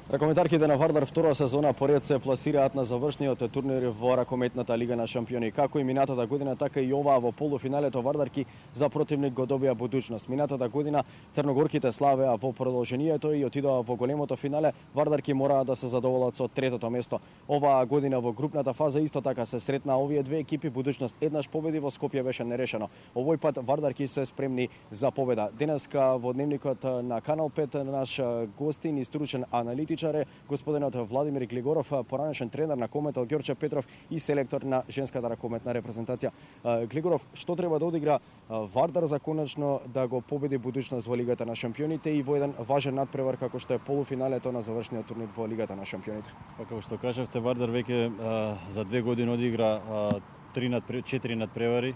Ракометарките на Вардар втора сезона поред се пласираат на завршниот турнир во Ракометната лига на шампиони. Како и минатата година, така и оваа во полуфиналето Вардарки за противник го добија будучност. Минатата година црногорките славеа во продолжението и отидоа во големото финале. Вардарки мораа да се задоволат со третото место. Оваа година во групната фаза исто така се сретна овие две екипи. Будучност еднаш победи во Скопје беше нерешено. Овој пат Вардарки се спремни за победа. Денеска во дневникот на Канал 5 наш гостин и стручен аналитичар е господинот Владимир Глигоров, поранешен тренер на Кометал Ѓорче Петров и селектор на женската ракометна репрезентација. Глигоров, што треба да одигра Вардар за конечно да го победи будучност во Лигата на шампионите и во еден важен надпревар како што е полуфиналето на завршниот турнир во Лигата на шампионите? Како што кажавте, Вардар веќе за 2 години одигра 4 надпревари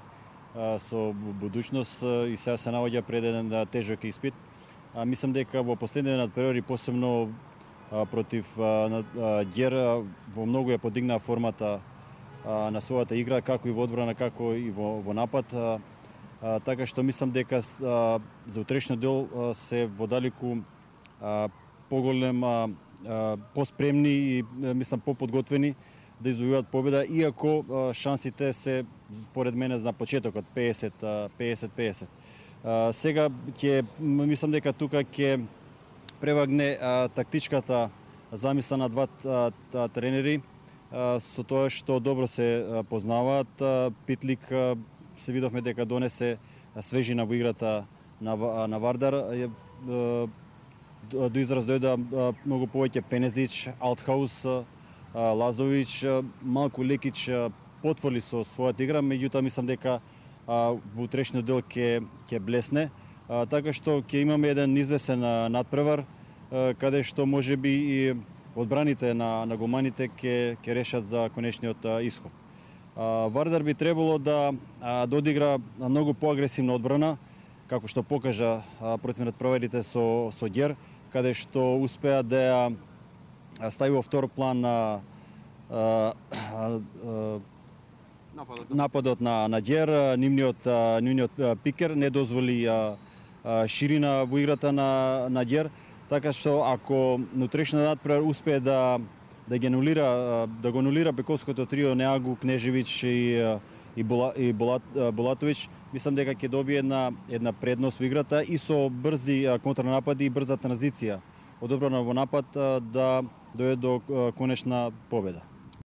со будучност и сега се наоѓа пред еден тежок испит. Мислам дека во последните надпревари, посебно против Ѓер, во многу ја подигнаа формата на својата игра, како и во одбрана, како и во напад. Така што мислам дека за утрешниот дел се во далеку поголем, поспремни и мислам поподготвени да извојуваат победа, иако шансите се според мене на почетокот 50-50. Сега мислам дека тука ќе превагне тактичката замисла на двата тренери со тоа што добро се познаваат. Питлик се видовме дека донесе свежина во играта на Вардар. До израз дојда многу повеќе Пенезич, Алтхаус, Лазович, малку Лекич потврди со својата игра, меѓутоа мислам дека во утрешниот дел ќе блесне. Така што ќе имаме еден извесен надпревар, каде што можеби и одбраните на голманите ќе решат за конечниот исход. Вардар би требало да одигра многу поагресивна одбрана, како што покажа против надпреварите со Ѓер, каде што успеа да ја стави во втор план нападот на Ѓер. Нивниот пикер не дозволи ширина во играта на Ѓер, така што ако утрешниот надпревар успее да го анулира бековското трио Неагу, Кнежевич и Булатович, мислам дека ќе добие една предност во играта и со брзи контранапади и брза транзиција од одбрана во напад да дојде до конечна победа.